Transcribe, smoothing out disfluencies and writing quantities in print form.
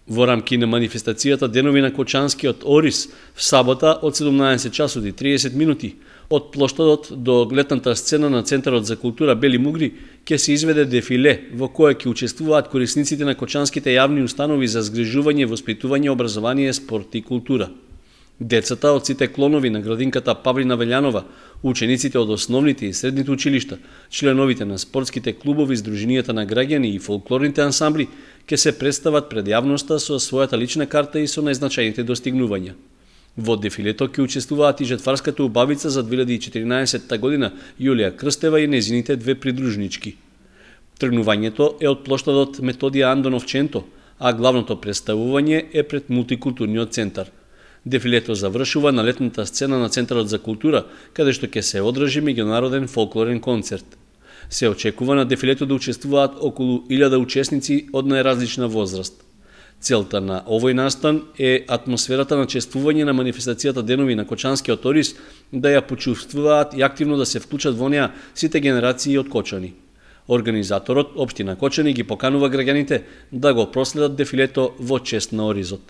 Во рамки на манифестацијата Денови на Кочанскиот Орис, в сабота од 17 часот и 30 минути, од плоштадот до гледната сцена на Центарот за култура Бели Мугри ќе се изведе дефиле во кое ќе учествуваат корисниците на кочанските јавни установи за згрижување, воспитување, образование, спорт и култура. Децата од сите клонови на градинката Павлина Велјанова, учениците од основните и средните училишта, членовите на спортските клубови, здруженијата на граѓани и фолклорните ансамбли ќе се представат пред јавноста со својата лична карта и со најзначајните достигнувања. Во дефилето ќе учествуваат и жетварската убавица за 2014 година Јулија Крстева и незините две придружнички. Тргнувањето е од плоштадот Методија Андонов Ченто, а главното представување е пред мултикултурниот центар. Дефилето завршува на летната сцена на Центарот за култура, каде што ќе се одржи меѓународен фолклорен концерт. Се очекува на дефилето да учествуваат околу 1000 учесници од најразлична возраст. Целта на овој настан е атмосферата на чествување на манифестацијата Денови на Кочанскиот Орис да ја почувствуваат и активно да се вклучат во неа сите генерации од Кочани. Организаторот, Општина Кочани, ги поканува граѓаните да го проследат дефилето во чест на Оризот.